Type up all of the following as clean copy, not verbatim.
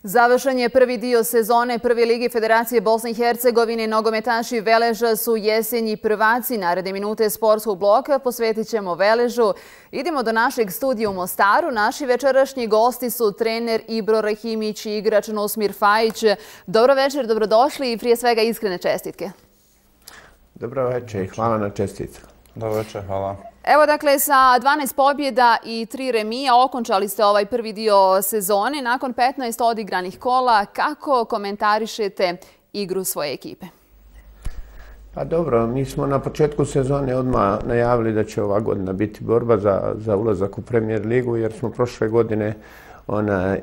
Završen je prvi dio sezone Prve lige Federacije Bosne i Hercegovine. Nogometaši Veleža su jesenji prvaci. Naredne minute sportskog bloka posvetit ćemo Veležu. Idemo do našeg studija u Mostaru. Naši večerašnji gosti su trener Ibro Rahimić i igrač Nusmir Fajić. Dobro večer, dobrodošli i prije svega iskrene čestitke. Dobro večer i hvala na čestitkama. Dobro večer, hvala. Evo dakle, sa 12 pobjeda i 3 remija okončali ste ovaj prvi dio sezone. Nakon 15 odigranih kola, kako komentarišete igru svoje ekipe? Pa dobro, mi smo na početku sezone odmah najavili da će ova godina biti borba za ulazak u Premier ligu, jer smo prošle godine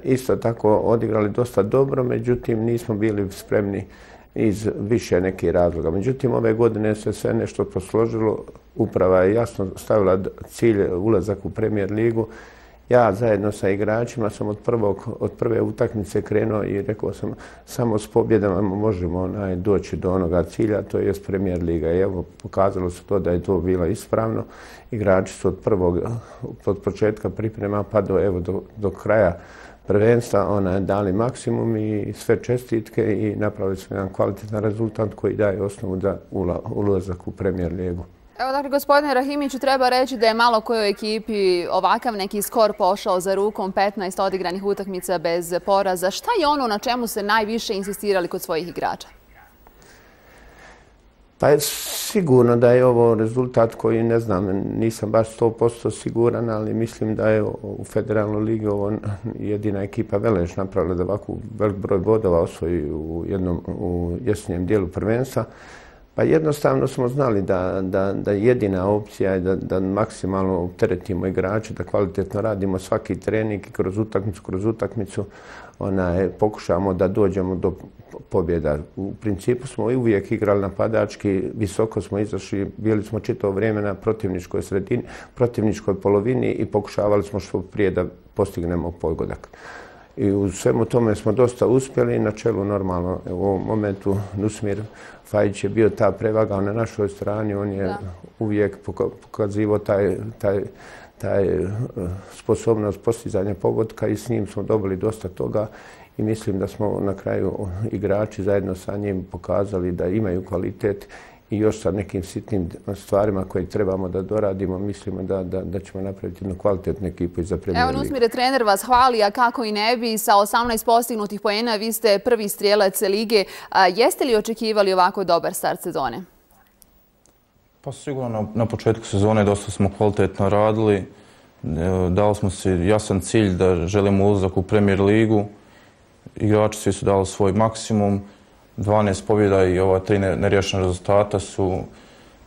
isto tako odigrali dosta dobro, međutim nismo bili spremni iz više nekih razloga. Međutim, ove godine se sve nešto posložilo. Uprava je jasno stavila cilj ulazak u Premier ligu. Ja zajedno sa igračima sam od prve utakmice krenuo i rekao sam samo s pobjedama možemo doći do onoga cilja, to je Premier liga. I evo, pokazalo se to da je to bilo ispravno. Igrači su od početka priprema pa do kraja prvenstva dali maksimum i sve čestitke i napravili smo jedan kvalitetan rezultat koji daje osnovu za ulazak u Premier ligu. Evo dakle, gospodine Rahimiću, treba reći da je malo kojoj ekipi ovakav neki skor pošao za rukom, 15 odigranih utakmica bez poraza. Šta je ono na čemu se najviše insistirali kod svojih igrača? Pa sigurno da je ovo rezultat koji, ne znam, nisam baš 100% siguran, ali mislim da je u Federalnoj ligi ovo jedina ekipa Velež napravila da ovako velik broj bodova osvoji u jesenjem dijelu prvenstva. Pa jednostavno smo znali da jedina opcija je da maksimalno opteretimo igrače, da kvalitetno radimo svaki trening i kroz utakmicu pokušamo da dođemo do pobjeda. U principu smo i uvijek igrali napadački, visoko smo izašli, bili smo čitavo vrijeme na protivničkoj polovini i pokušavali smo što prije da postignemo pogodak. I u svemu tome smo dosta uspjeli, na čelu normalno u ovom momentu Nusmir Fajić je bio ta prevaga na našoj strani, on je uvijek pokazivao taj sposobnost postizanja pogotka i s njim smo dobili dosta toga i mislim da smo na kraju igrači zajedno sa njim pokazali da imaju kvalitet i još sa nekim sitnim stvarima koje trebamo da doradimo, mislimo da ćemo napraviti jednu kvalitetnu ekipu i za Premier ligu. Evo, Nusmire, trener vas hvali, a kako i ne bi, sa 18 postignutih poena, vi ste prvi strijelac lige. Jeste li očekivali ovako dobar start sezone? Pa sigurno na početku sezone dosta smo kvalitetno radili. Dali smo si jasan cilj da želimo ulazak u Premier ligu. Igrači svi su dali svoj maksimum. 12 pobjeda i ova 3 neriješena rezultata su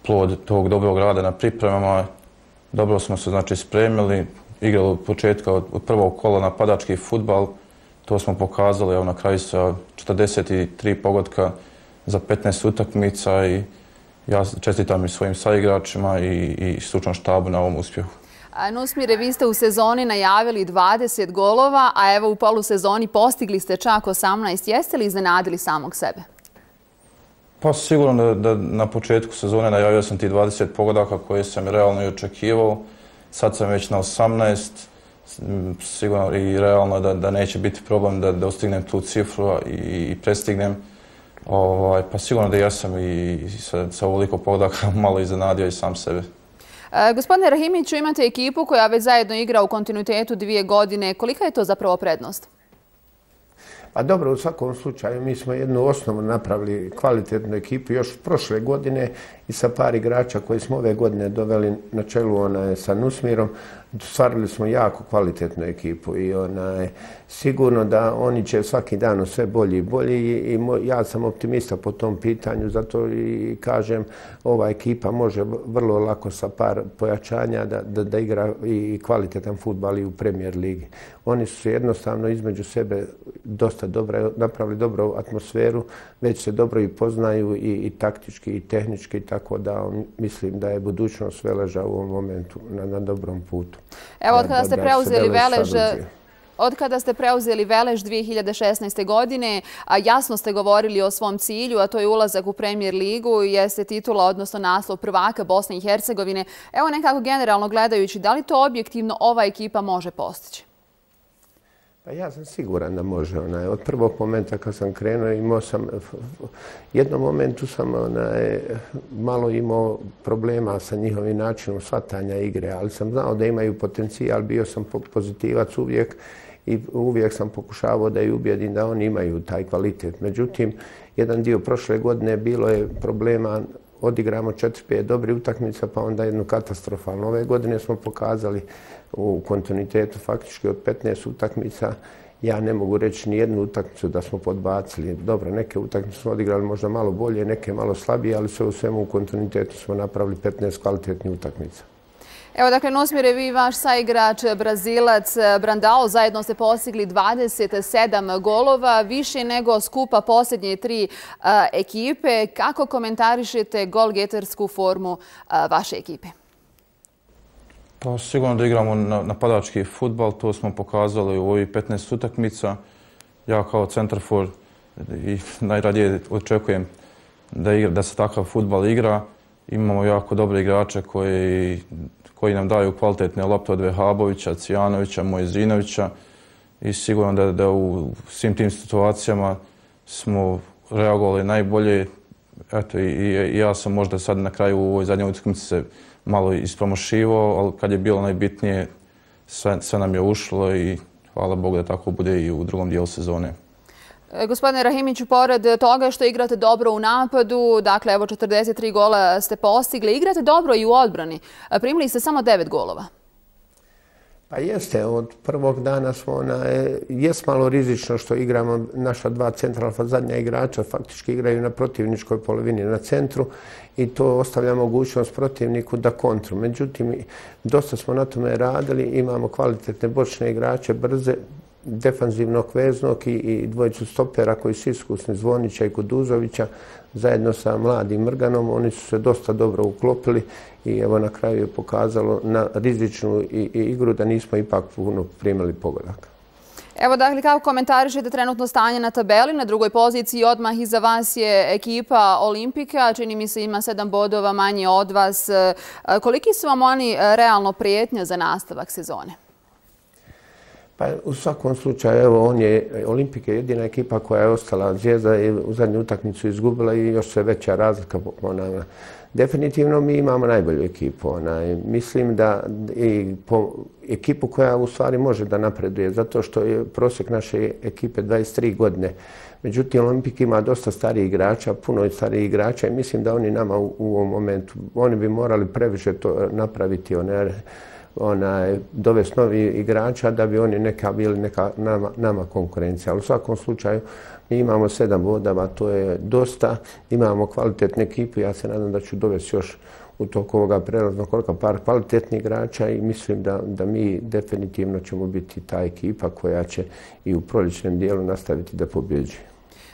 plod tog dobrog rada na pripremama. Dobro smo se spremili, igrali od početka od prvog kola napadački fudbal. To smo pokazali na kraju sa 43 pogotka za 15 utakmica i ja čestitam i svojim saigračima i stručnom štabu na ovom uspjehu. Nusmire, vi ste u sezoni najavili 20 golova, a evo u polusezoni postigli ste čak 18. Jeste li iznenadili samog sebe? Pa sigurno da na početku sezone najavio sam ti 20 pogodaka koje sam realno i očekivao. Sad sam već na 18. Sigurno i realno da neće biti problem da dostignem tu cifru i prestignem. Pa sigurno da ja sam i sa ovoliko pogodaka malo iznenadio i sam sebe. Gospodine Rahimiću, imate ekipu koja već zajedno igra u kontinuitetu 2 godine. Kolika je to zapravo prednost? Pa dobro, u svakom slučaju mi smo jednu osnovu napravili kvalitetnu ekipu još prošle godine i sa par igrača koji smo ove godine doveli na čelu sa Nusmirom. Stvarili smo jako kvalitetnu ekipu i sigurno da oni će svaki dan sve bolji i bolji i ja sam optimista po tom pitanju, zato i kažem ova ekipa može vrlo lako sa par pojačanja da igra i kvalitetan fudbal i u Premier ligi. Oni su jednostavno između sebe dosta dobro napravili dobru atmosferu, već se dobro i poznaju i taktički i tehnički, tako da mislim da je budućnost Veleža u ovom momentu na dobrom putu. Evo, od kada ste preuzeli Velež 2016. godine, jasno ste govorili o svom cilju, a to je ulazak u Premier ligu, jeste titula, odnosno naslov prvaka Bosne i Hercegovine. Evo nekako generalno gledajući, da li to objektivno ova ekipa može postići? Pa ja sam siguran da može. Od prvog momenta kad sam krenuo imao sam, jednom momentu sam malo imao problema sa njihovim načinom shvatanja igre, ali sam znao da imaju potencijal, bio sam pozitivac uvijek i uvijek sam pokušavao da ih ubijedim da oni imaju taj kvalitet. Međutim, jedan dio prošle godine bilo je problema, odigramo 4-5 dobrih utakmica pa onda jednu katastrofalnu. Ove godine smo pokazali u kontinuitetu faktički od 15 utakmica. Ja ne mogu reći ni jednu utakmicu da smo podbacili. Dobro, neke utakmice smo odigrali možda malo bolje, neke malo slabije, ali sve u svemu u kontinuitetu smo napravili 15 kvalitetnih utakmica. Evo, dakle, Nusmire, vi i vaš saigrač Brazilac Brandao zajedno ste postigli 27 golova, više nego skupa posljednje 3 ekipe. Kako komentarišete golgetersku formu vaše ekipe? Pa sigurno da igramo napadački fudbal, to smo pokazali u ovih 15 utakmica. Ja kao centarfor i najradije očekujem da se takav fudbal igra. Imamo jako dobre igrače koji nam daju kvalitetne lopte od Vehabovića, Cijanovića, Mojezinovića i sigurno da u svim tim situacijama smo reagovali najbolje. Eto, i ja sam možda sad na kraju u ovoj zadnjoj utakmici se malo ispromašivao, ali kad je bilo najbitnije sve nam je ušlo i hvala Bogu da tako bude i u drugom dijelu sezone. Gospodine Rahimiću, pored toga što igrate dobro u napadu, dakle evo 43 gola ste postigli, igrate dobro i u odbrani. Primili ste samo 9 golova. Pa jeste, od prvog dana smo jest malo rizično što igramo naša 2 centralna zadnja igrača, faktički igraju na protivničkoj polovini na centru i to ostavlja mogućnost protivniku da kontru. Međutim, dosta smo na tome radili, imamo kvalitetne bočne igrače, brze, defanzivnog veznog i dvojicu stopera koji su iskusni, Zvonića i Kuduzovića, zajedno sa mladim Mrganom. Oni su se dosta dobro uklopili i evo na kraju je pokazalo na rizičnu igru da nismo ipak puno primili pogodaka. Evo, dakle, kako komentarišete trenutno stanje na tabeli? Na drugoj poziciji odmah iza vas je ekipa Olimpika. Čini mi se ima 7 bodova manje od vas. Koliki su vam oni realno prijetnja za nastavak sezone? Pa u svakom slučaju, evo, Olimpik je jedina ekipa koja je ostala. Zvijezda je u zadnju utakmicu izgubila i još sve veća razlika po nama. Definitivno mi imamo najbolju ekipu. Mislim da i po ekipu koja u stvari može da napreduje, zato što je prosjek naše ekipe 23 godine. Međutim, Olimpik ima dosta starijih igrača, puno starijih igrača i mislim da oni nama u ovom momentu, oni bi morali previše to napraviti, dovesti novi igrača da bi oni bili nama konkurencija. Ali u svakom slučaju mi imamo 7 bodova, to je dosta. Imamo kvalitetne ekipe, ja se nadam da ću dovesti još u toku ovoga prelaznog roka par kvalitetnih igrača i mislim da mi definitivno ćemo biti ta ekipa koja će i u proljećnom dijelu nastaviti da pobjeđuje.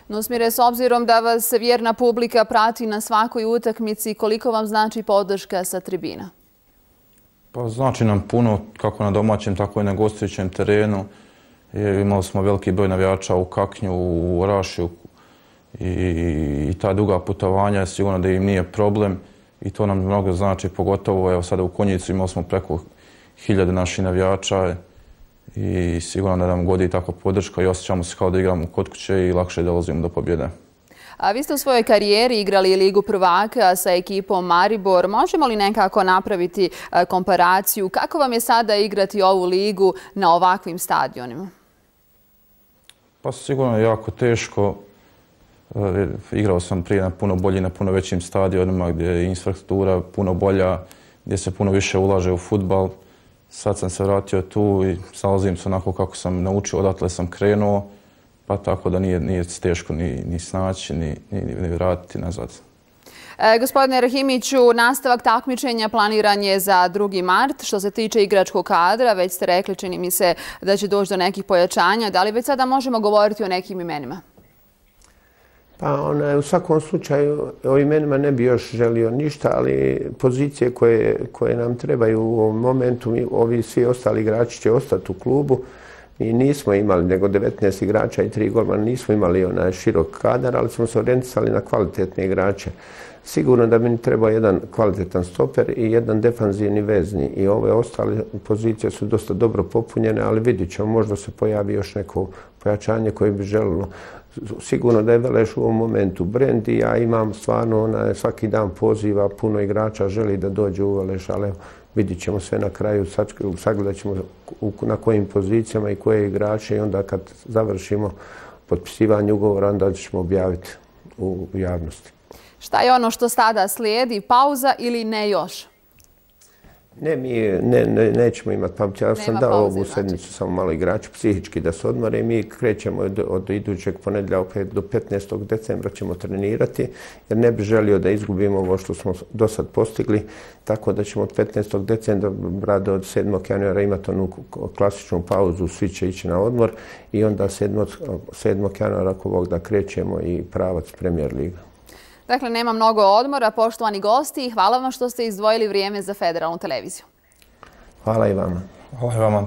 Nusmire, s obzirom da vas vjerna publika prati na svakoj utakmici, koliko vam znači podrška sa tribina? Pa znači nam puno, kako na domaćem, tako i na gostujućem terenu. Imali smo veliki broj navijača u Kaknju, u Orašju i ta duga putovanja, sigurno da im nije problem i to nam mnogo znači, pogotovo evo sada u Konjicu imali smo preko 1000 naših navijača i sigurno da nam godi tako podrška i osjećamo se kao da igramo kod kuće i lakše dolazimo do pobjede. A vi ste u svojoj karijeri igrali Ligu prvaka sa ekipom Maribor. Možemo li nekako napraviti komparaciju? Kako vam je sada igrati ovu ligu na ovakvim stadionima? Pa sigurno je jako teško. Igrao sam prije na puno bolji, na puno većim stadionima gdje je infrastruktura puno bolja, gdje se puno više ulaže u fudbal. Sad sam se vratio tu i snalazim se onako kako sam naučio, odatle sam krenuo. Pa tako da nije teško ni snaći, ni vratiti nazad. Gospodine Rahimiću, nastavak takmičenja planiran je za 2. mart. Što se tiče igračkog kadra, već ste rekli, čini mi se da će doći do nekih pojačanja. Da li već sada možemo govoriti o nekim imenima? Pa u svakom slučaju o imenima ne bi još želio ništa, ali pozicije koje nam trebaju u ovom momentu, ovi svi ostali igrači će ostati u klubu. Mi nismo imali, nego 19 igrača i 3 golmana, nismo imali onaj širok kadar, ali smo se orijentisali na kvalitetne igrače. Sigurno da bi mi trebao jedan kvalitetan stoper i jedan defanzivni vezni. I ove ostale pozicije su dosta dobro popunjene, ali vidit ćemo, možda se pojavi još neko pojačanje koje bi želilo. Sigurno da je Veleš u ovom momentu brend i ja imam stvarno svaki dan poziva, puno igrača želi da dođe u Veleš, ali vidit ćemo sve na kraju, sagledat ćemo na kojim pozicijama i koje igrače i onda kad završimo potpisivanje ugovora, onda ćemo objaviti u javnosti. Šta je ono što sada slijedi? Pauza ili ne još? Ne, mi nećemo imati pauzu. Ja sam dao ovu sedmicu samo malo igraču psihički da se odmore i mi krećemo od idućeg ponedjeljka do 15. decembra ćemo trenirati jer ne bi želio da izgubimo ovo što smo do sad postigli, tako da ćemo od 15. decembra do 7. januara imati onu klasičnu pauzu, svi će ići na odmor i onda 7. januara ako Bog da krećemo i pravac Premier Liga. Dakle, nema mnogo odmora, poštovani gosti, i hvala vam što ste izdvojili vrijeme za Federalnu televiziju. Hvala i vama. Hvala i vama.